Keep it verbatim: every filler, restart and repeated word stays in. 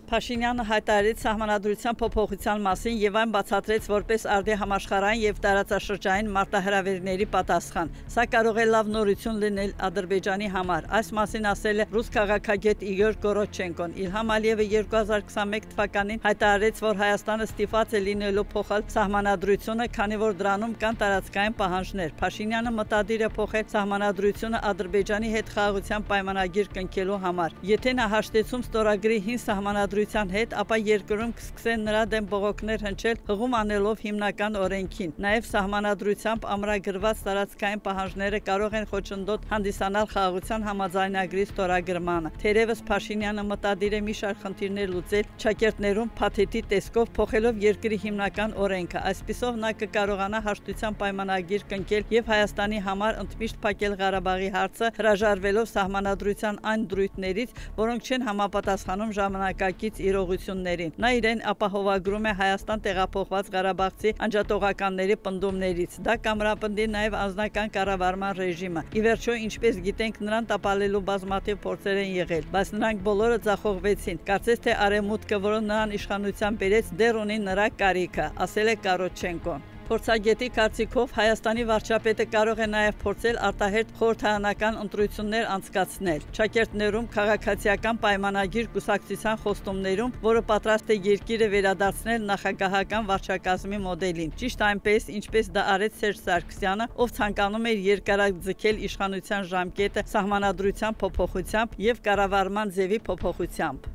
Փաշինյանը հայտարարեց սահմանադրության փոփոխության մասին եւ այն բացատրեց որպես արդի համաշխարհային եւ տարածաշրջանային մարտահրավերների պատասխան։ Սա կարող է լավ նորություն լինել Ադրբեջանի համար։ Այս մասին ասել է ռուս քաղաքագետ Իգոր Գորոչենկոն։ Իլհամ Ալիևը երկու հազար քսանմեկ թվականին հայտարարեց, որ Հայաստանը ստիպված է լինելու փոխել սահմանադրությունը, քանի որ դրանում կան տարածքային պահանջներ։ Փաշինյանը մտադիր է փոխել սահմանադրությունը Ադրբեջանի հետ խաղաղության պայմանագիր կնքելու համար։ Եթե նա հաշտեցում ստորագրի հին սահմանադրության հետ, ապա երկրում կսկսեն նրա դեմ բողոքներ հնչել, հղում անելով հիմնական օրենքին։ Նաև սահմանադրությամբ ամրագրված տարածքային պահանջները կարող են խոչընդոտ հանդիսանալ խաղաղության համաձայնագրի ստորագրմանը։ Թերևս Փաշինյանը մտադիր է մի շարք խնդիրներ լուծել ճակերտներում փաթեթի տեսքով փոխելով երկրի հիմնական օրենքը։ Այսպիսով նա կկարողանա հաշտության պայմանագիր կնքել եւ Հայաստանի համար ընդմիշտ փակել Ղարաբաղի հարցը, հրաժարվելով սահմանադրության այն դրույթներից, որոնք չեն համապատասխանում ժամանակակից իրողություններին։ Նա իրեն ապահովագրում է Հայաստան տեղափոխված ղարաբաղցի անջատողականների պնդումներից։ Դա կամրապնդի նաև անձնական կառավարման ռեժիմը։ Ի վերջո, ինչպես գիտենք, նրան տապալելու բազմաթիվ փորձեր են եղել, բայց նրանք բոլորը ձախողվեցին։ Կարծես թե արևմուտքը, որը նրան իշխանության բերեց, դեռ ունի նրա կարիքը, ասել է Գորոչենկոն։ Փորձագետի կարծիքով Հայաստանի վարչապետը կարող է նաև փորձել արտահերթ խորհրդարանական ընտրություններ անցկացնել ճակերտներում քաղաքացիական պայմանագիր կուսակցության խոստումներում, որը պատրաստ է երկիրը վերադարձնել նախագահական վարչակազմի մոդելին։ Ճիշտ այնպես, ինչպես դա արեց Սերժ Սարգսյանը, ով ցանկանում էր երկարաձգել իշխանության ժամկետը սահմանադրության փոփոխությամբ եւ կառավարման ձևի փոփոխությամբ։